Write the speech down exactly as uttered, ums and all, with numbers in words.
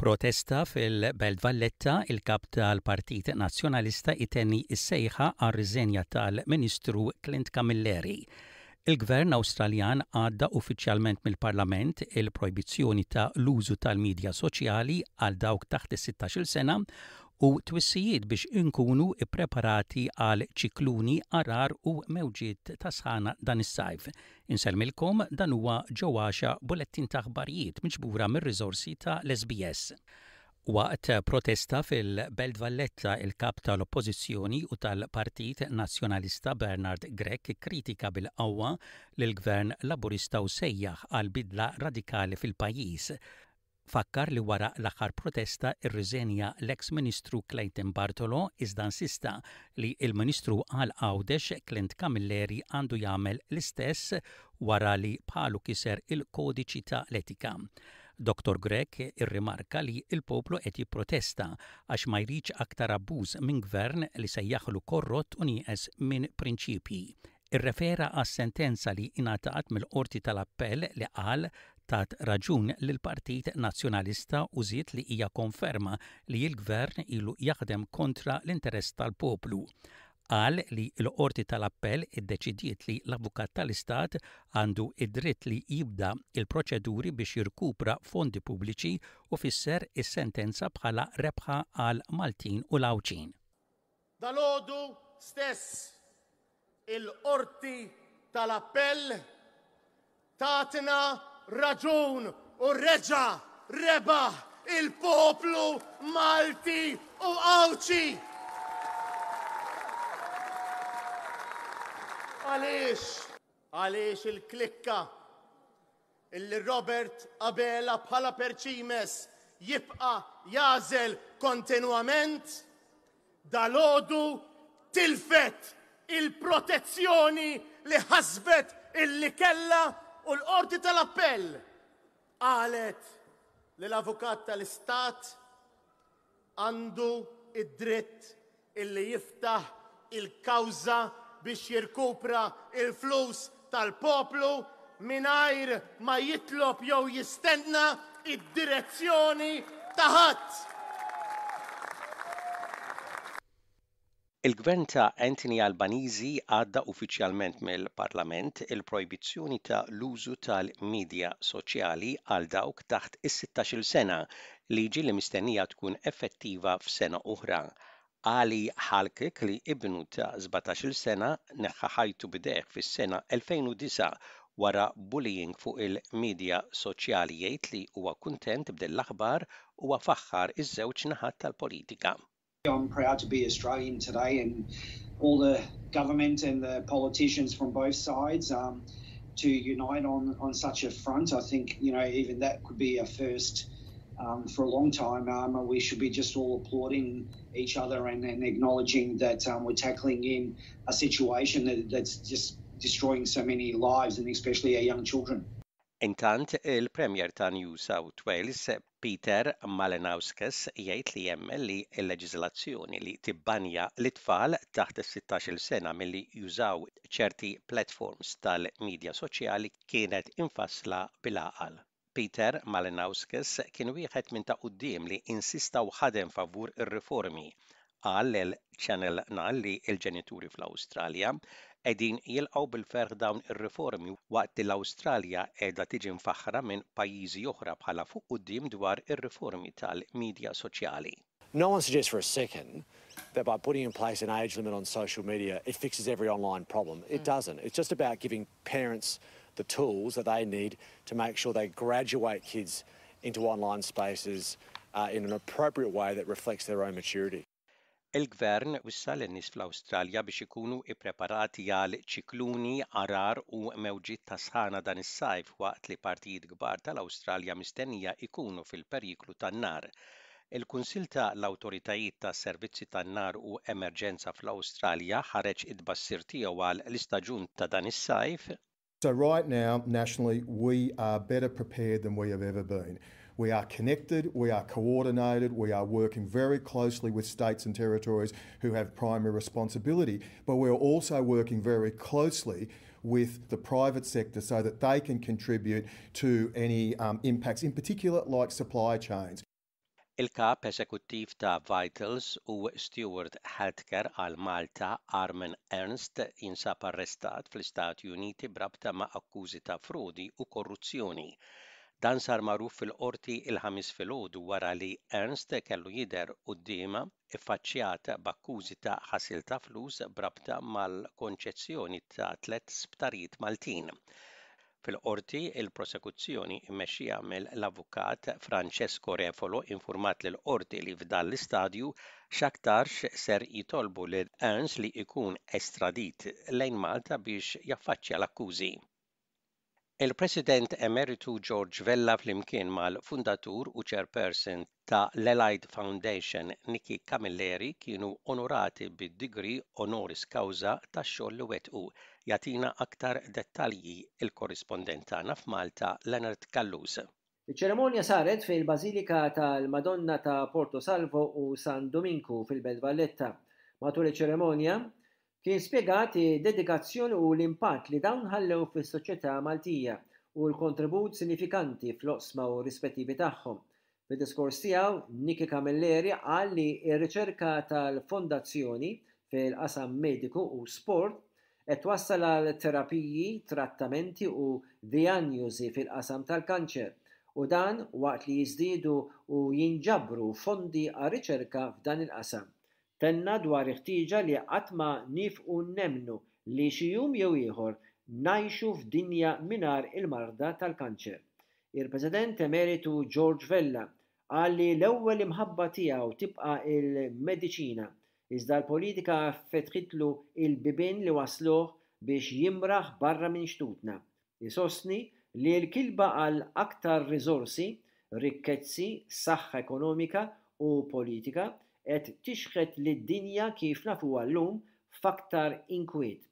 Protesta fil-Belt Valletta, il-kap tal-Partit Nazzjonalista itenni is-sejħa għar-riżenja tal-Ministru Clint Camilleri. Il-Gvern Awstraljan għadda uffiċjalment mill-Parlament il-projbizzjoni ta' l-użu tal-medja soċjali għal dawk taħt is-sittax-il sena u twissijiet biex inkunu ippreparati għal ċikluni, għargħar u mewġiet ta' sħana dan is-sajf. Insellmilkom, dan huwa ġewwaxa bulettin ta' aħbarijiet miġbura mir-riżorsi ta' l-S B S. Waqt protesta fil-Belt Valletta, il-kap tal-Oppożizzjoni u tal-Partit Nazzjonalista Bernard Grech kritika bil-qawwa lill-Gvern Laburista u sejjaħ għal bidla radikali fil-pajjiż. Fakkar li wara l-aħħar protesta irriżenja l-ex Ministru Clayton Bartolo, iżda insista li il-Ministru għal Għawdex Clint Camilleri għandu jagħmel l-istess wara li bħalu kiser il-kodiċi ta' l-etika. Doktor Grech irrimarka li il-poplu qed jipprotesta għax ma jridx aktar abbuż minn gvern li sejjaħlu korrott u nieqes minn prinċipji. Irrefera għas sentenza li ingħatat mill-Qorti tal-Appell li qal tat raġun lil Partit Nazzjonalista u żied li hija konferma li l-gvern ilu jaħdem kontra l-interess tal-poplu. Qal li l-Qorti tal-Appell iddeċidiet li l-Avukat tal-Istat għandu id-dritt li jibda il-proċeduri biex jirkupra fondi pubbliċi u fisser is-sentenza bħala rebħa għal Maltin u l-Għawdxin. Dalgħodu stess il-Qorti tal-Appell tatna raġun u reġa rebaħ il-poplu Malti u Għawdxi. Għaliex? Għaliex il-klikka illi Robert Abela bħala perċimes jibqa jagħżel kontinuament dalgħodu tilfet il-protezzjoni li ħasbet illi kella u l-Qorti tal-Appell qalet li l-Avukat tal-Istat għandu id-dritt illi jiftaħ il-kawża biex jirkupra il-flus tal-poplu mingħajr ma jitlob jew jistenna id-direzzjoni ta' ħadd. Il-gvern ta' Anthony Albanese għadda uffiċjalment mill-Parlament il-projbizzjoni ta' l-użu tal-medja soċjali għal dawk taħt is-sittax-il sena, liġi li mistennija tkun effettiva f'sena oħra. Ali Halkik, li ibnu ta' sbatax-il sena neħħa ħajtu b'idejh fis-sena elfejn u disgħa wara bullying fuq il-medja soċjali, jgħid li huwa kuntent b'din l-aħbar u faħħar iż-żewġ naħat tal-politika. I'm proud to be Australian today, and all the government and the politicians from both sides um, to unite on, on such a front. I think, you know, even that could be a first um, for a long time. Um, we should be just all applauding each other and, and acknowledging that um, we're tackling in a situation that, that's just destroying so many lives and especially our young children. Intant, il-Premier ta' New South Wales, Peter Malinauskas, jgħid li jemmen li l-leġiżlazzjoni li tibbanja l-itfal taħt is-sittax-il sena milli jużaw ċerti platforms tal-medja soċjali kienet infassla bil-għaqal. Peter Malinauskas kien wieħed minn ta' quddiem li insista u ħadem favur ir-riformi. Qal lil Channel nine li l-ġenituri fl-Awstralja qegħdin jilqgħu bil-ferħ dawn ir-riformi waqt li l-Awstralja qiegħda tiġi mfaħħra minn pajjiżi oħra bħala fuq quddiem dwar ir-riformi tal-medja soċjali. No one suggests for a second that by putting in place an age limit on social media, it fixes every online problem. It mm. doesn't. It's just about giving parents the tools that they need to make sure they graduate kids into online spaces uh, in an appropriate way that reflects their own maturity. Il-gvern wissa lin-nies fl-Awstralja biex ikunu ippreparati għal ċikluni, għargħar u mewġiet ta' sħana dan is-sajf waqt li partijiet kbar tal-Awstralja mistennija ikunu fil-periklu tan-nar. Il-Kunsil ta' l-Awtoritajiet tas Servizzi tan-Nar u Emerġenza fl-Awstralja ħareġ it-tbassir tiegħu għal l-istaġun ta' dan is-sajf. So right now, nationally, we are better prepared than we have ever been. We are connected, we are coordinated, we are working very closely with states and territories who have primary responsibility, but we're also working very closely with the private sector so that they can contribute to any um, impacts, in particular like supply chains. Il-kap eżekuttiv ta' Vitals u Steward Healthcare għal Malta, Armin Ernst, jinsab arrestat fl-Istati Uniti b'rabta ma' akkużi ta' frodi u korruzzjoni. Dan sar magħruf fil-qorti il-Ħamis filgħodu wara li Ernst kellu jidher quddiemha iffaċċjat b'akkużi ta' ħasil ta' flus b'rabta mal-konċessjoni ta' tliet sptarijiet Maltin. Fil-qorti, il-prosekuzzjoni mmexxija mill-avukat Francesco Refolo informat lill-qorti li f'dan l-istadju x'aktarx ser jitolbu lil Ernst li jkun estradit lejn Malta biex jaffaċċja l-akkużi. Il-President Emeritu George Vella flimkien mal-fundatur u chairperson ta' l-Allied Foundation, Nikki Camilleri, kienu onorati bid-degree honoris causa tax-xogħol li wettqu. Jagħtina aktar dettalji il-korrispondent tagħna f'Malta, Leonard Callus. Iċ-ċerimonja saret fil-Bażilika tal-Madonna ta' Porto Salvo u San Dominku fil-Belt Valletta. Matul iċ-ċerimonja kien spjegat dedikazzjoni u l-impatt li dawn ħallew fis-soċjetà Maltija u l-kontribut sinifikanti fl-oqsma u rispettivi tagħhom. Fid-diskors tiegħu, Nikki Camilleri qal li r-riċerka tal-fondazzjoni fil-qasam mediku u sport qed twassal għal terapiji, trattamenti u dijanjosi fil-qasam tal-kanċer, u dan waqt li jiżdiedu u jinġabru fondi għar-riċerka f'dan il-qasam. Tenna dwar il-ħtieġa li qatt ma nieqfu nemmnu li xi jum jew ieħor ngħixu f'dinja mingħajr il-marda tal-kanċer. Il-President Emeritu George Vella qal li l-ewwel imħabba tiegħu tibqa' il-mediċina, iżda l-politika fetħitlu il-bibien li wasluh biex jimraħ barra minn xtutna. Isostni li l-kilba għal aktar riżorsi, rikkezzi, saħħa ekonomika u politika qed tixħet lid-dinja kif nafuha llum f'aktar inkwiet.